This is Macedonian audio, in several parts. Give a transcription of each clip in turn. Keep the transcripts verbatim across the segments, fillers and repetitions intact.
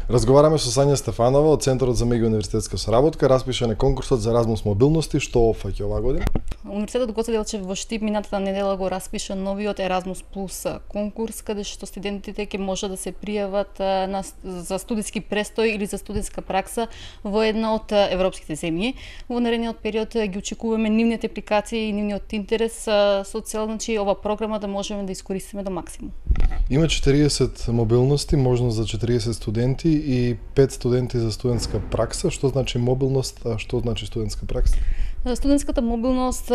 Разговараме со Сања Стефанова од Центарот за меѓууниверзитетска соработка, распишан е конкурсот за Еразмус мобилности, што опфаќа оваа година. Универзитетот Гоце Делчев во Штип минатата недела го распиша новиот Еразмус плюс конкурс, каде што студентите ќе може да се пријават на, за студиски престој или за студентска пракса во една од европските земји. Во наредниот период ги очекуваме нивните апликации и нивниот интерес со цел, значи, ова програма да можеме да искористиме до максимум. Има четириесет мобилности, можност за четириесет студенти и пет студенти за студентска пракса. Што значи мобилност, а што значи студентска пракса? Студентската мобилност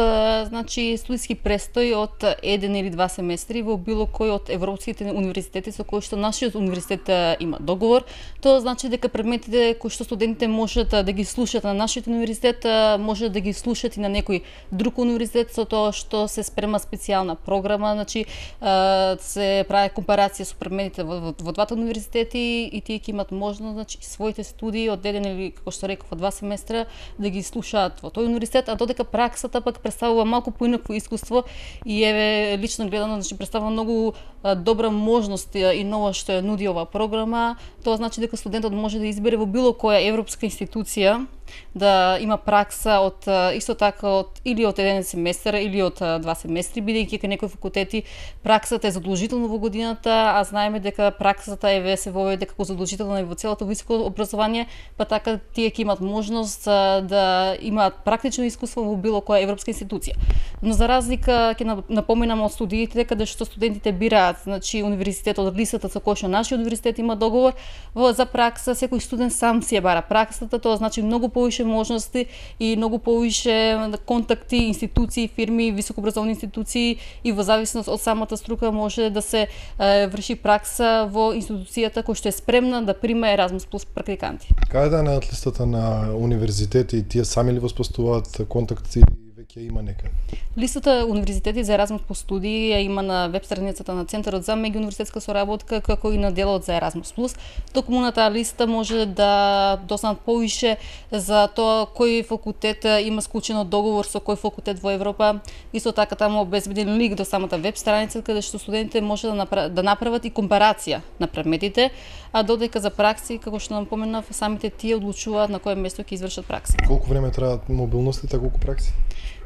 значи студиски престој од еден или два семестри во било кој од европските универзитети со кои што нашиот универзитет има договор. Тоа значи дека предметите кои што студентите можат да ги слушаат на нашиот универзитет, можат да ги слушаат и на некој друг универзитет, со тоа што се спрема специјална програма, значи се прави компарација со предметите во, во, во двата универзитети и тие ќе имат можност, значи, своите студии од еден или, како што реков, од два семестра да ги слушаат во тој универзитет, а додека праксата пак представува малку поинакво искуство и еве лично гледано, значи, представува многу добра можност и нова што ја нуди оваа програма. Тоа значи дека студентот може да избере во било која европска институција да има пракса од исто така од или од еден семестар или од два семестри, бидејќи кај некои факултети праксата е задолжително во годината, а знаеме дека праксата еве се воведе како задолжителна и во целото високо образование, па така тие ќе имат можност да имаат практично искуство во било која европска институција. Но за разлика ќе напоминам од студиите каде што студентите бираат, значи, универзитет од листата со кој што нашиот универзитет има договор, во за пракса секој студент сам си ја бара праксата, тоа значи многу повише можности и многу повише контакти, институции, фирми, високообразовни институции и во зависност од самата струка може да се е, врши пракса во институцијата која што е спремна да прима Еразмус плюс практиканти. Каде е на листата на универзитети, тие сами ли воспоставуваат контакти или веќе има некаде? Листата универзитети за Еразмус по студии ја има на веб страницата на Центарот за меѓууниверзитетска соработка, како и на делот за Еразмус плюс. Токму на таа листа може да дознат повише за тоа кој факултет има склучено договор со кој факултет во Европа. Исто така таму обезбеден линк до самата веб страница каде што студентите може да направат, да направат и компарација на предметите, а додека за пракси, како што напоменав, самите тие одлучуваат на кое место ќе извршат пракси. Колку време траат мобилностите, колку пракси?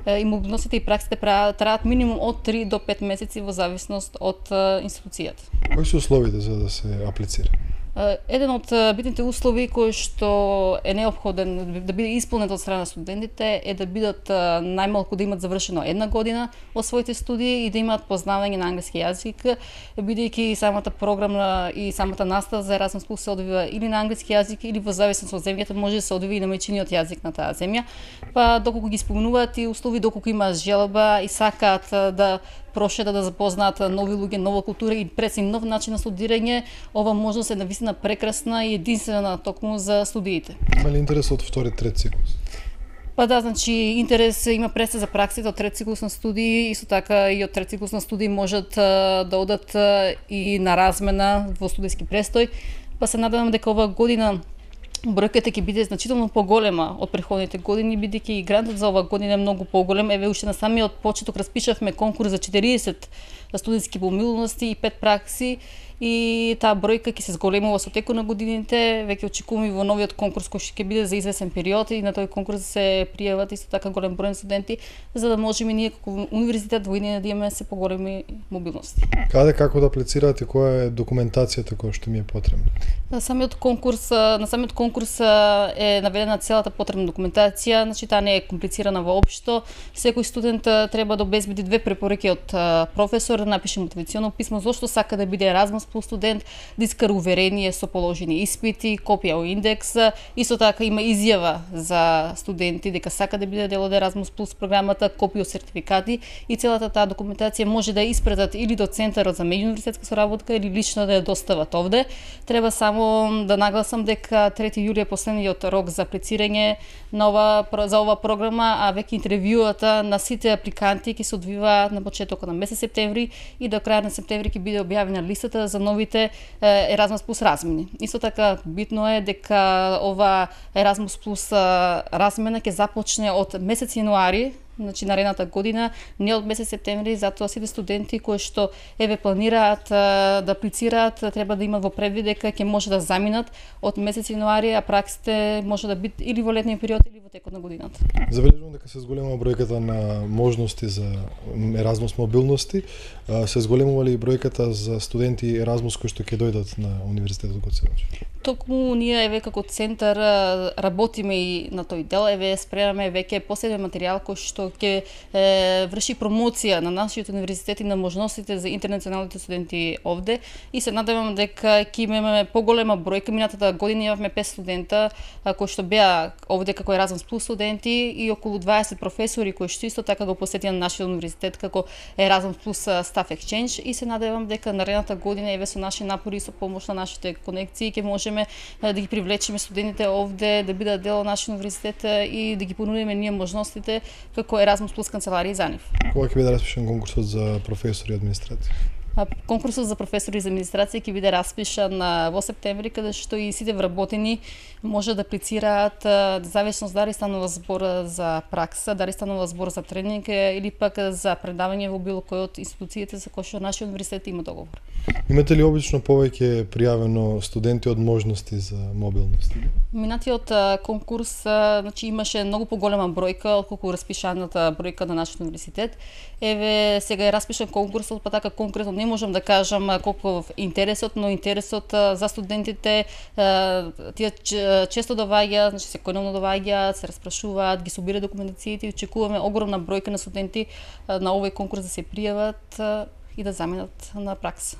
И мобилностите и праксите траат минимум од три до пет месеци во зависност од институцијата. Кои се условите за да се аплицира? Еден од битните услови кој што е неопходен да биде исполнет од страна на студентите е да бидат најмалку да имат завршено една година од своите студии и да имаат познавање на англиски јазик, бидејќи самата програма и самата настава за Еразмус плюс се одвива или на англиски јазик или во зависност од земјата може да се одвива и на мајчиниот јазик на таа земја. Па доколку ги исполнуваат и услови, доколку имаат желба и сакаат да прошетат, да запознаат нови луѓе, нова култура и пресим нов начин на студирање, ова можност е навистина прекрасна и единствена токму за студиите. Има ли интерес од втори, трет циклус? Па да, значи интерес има престе за праксите од трет циклус на студии, исто така и од трет циклус на студии можат да одат и на размена во студиски престој. Па се надевам дека оваа година бројката ќе биде значително поголема од претходните години, бидејќи и грантот за оваа година е многу поголем. Еве уште на самиот почеток распишавме конкурс за четириесет студентски мобилности и пет пракси и таа бројка ќе се зголемува со текот на годините. Веќе очекуваме во новиот конкурс кој ќе биде за извесен период и на тој конкурс се пријават исто така голем број студенти за да можеме ние како универзитет во иднина да имаме се поголеми мобилности. Каде, како да аплицираат и која е документацијата која што ми е потребна? На самиот конкурс, на самиот конкурс е наведена целата потребна документација, значи таа не е комплицирана воопшто. Секој студент треба да обезбеди две препораки од професор, да напише мотивационо писмо зошто сака да биде Еразмус плюс студент, да искара уверение со положени испити, копија од индекс, исто така има изјава за студенти дека сака да биде дел од Еразмус плюс програмата, копија од сертификати и целата таа документација може да ја испратат или до Центарот за меѓууниверзитетска соработка или лично да ја достават овде. Треба само да нагласам дека трети јули е последниот рок за аплицирање на ова, за ова програма, а веќе интервјуата на сите апликанти ќе се одвива на почетокот на месец септември и до крај на септември ќе биде објавена листата за новите Еразмус плюс размени. Исто така битно е дека ова Еразмус плюс размена ќе започне од месец јануари значи наредната година, не од месец септември, затоа сите студенти кои што еве планираат а, да аплицираат, треба да имат во предвид дека ќе може да заминат од месец јануари, а праксите може да биде или во летниот период или во текот на годината. Забележувам дека се зголемува бројката на можности за Еразмус мобилности. Се зголемува ли бројката за студенти Еразмус кои што ќе дојдат на Универзитетот Гоце Делчев? Токму ние еве како центар работиме и на тој дел, еве спремаме веќе посебен материјал кој што ќе врши промоција на нашиот универзитет и на можностите за интернационалните студенти овде и се надевам дека ќе имаме поголема бројка. Минатата година имавме пет студента кои што беа овде како Еразмус плюс студенти и околу дваесет професори кои што исто така го посетија на нашиот универзитет како Еразмус плюс Staff Exchange и се надевам дека наредната година еве со наши напори и со помош на нашите конекции ќе можеме да ги привлечеме студентите овде да бидат дел од нашиот универзитет и да ги понудиме ние можностите како Еразмус плюс канцеларија за нив. Кога ќе биде распишан конкурсот за професори и администрација? Конкурсот за професори за администрација ќе биде распишан во септември, каде што и сите вработени може да аплицираат, зависно дали станува збор за пракса, дали станува збор за тренинг или пак за предавање во било кој од институциите за кои што нашиот универзитет има договор. Имате ли обично повеќе пријавено студенти од можности за мобилност? Минатиот конкурс значи имаше многу поголема бројка отколку распишаната бројка на нашиот универзитет. Еве сега е распишан конкурсот, па така конкретно не можам да кажам колку интересот, но интересот за студентите тие често доаѓаат, значи секојдневно доаѓаат, се распрашуваат, ги собираат документациите и очекуваме огромна бројка на студенти на овој конкурс да се пријават и да заминат на пракса.